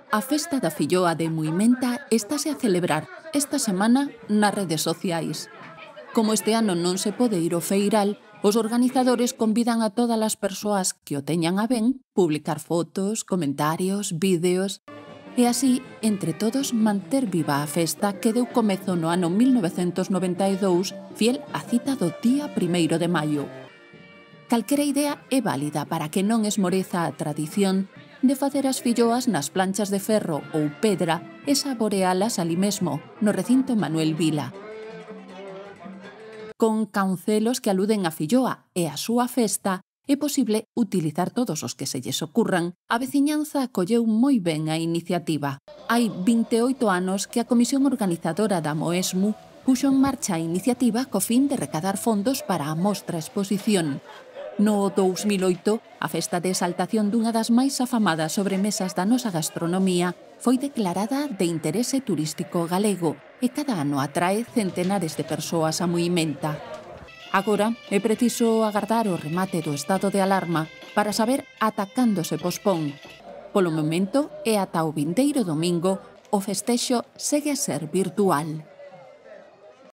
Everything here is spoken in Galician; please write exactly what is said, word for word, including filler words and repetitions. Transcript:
A festa da filloa de Muimenta estáse a celebrar esta semana nas redes sociais. Como este ano non se pode ir ao feiral, os organizadores convidan a todas as persoas que o teñan a ben publicar fotos, comentarios, vídeos e así, entre todos, manter viva a festa que deu comezo no ano mil novecentos noventa e dous, fiel á cita do día primeiro de maio. Calquera idea é válida para que non esmoreza a tradición de facer as filloas nas planchas de ferro ou pedra e saborealas ali mesmo, no recinto Manuel Vila. Con cancelos que aluden á filloa e á súa festa, é posible utilizar todos os que se lles ocurran. A veciñanza acolleu moi ben a iniciativa. Hai vinte e oito anos que a comisión organizadora da Moesmu puxo en marcha a iniciativa co fin de recadar fondos para a mostra exposición. No dous mil oito, a festa de exaltación dunha das máis afamadas sobremesas da nosa gastronomía foi declarada de interese turístico galego e cada ano atrae centenares de persoas a Muimenta. Agora é preciso agardar o remate do estado de alarma para saber ata cando se pospón. Polo momento e ata o vindeiro domingo, o festexo segue a ser virtual.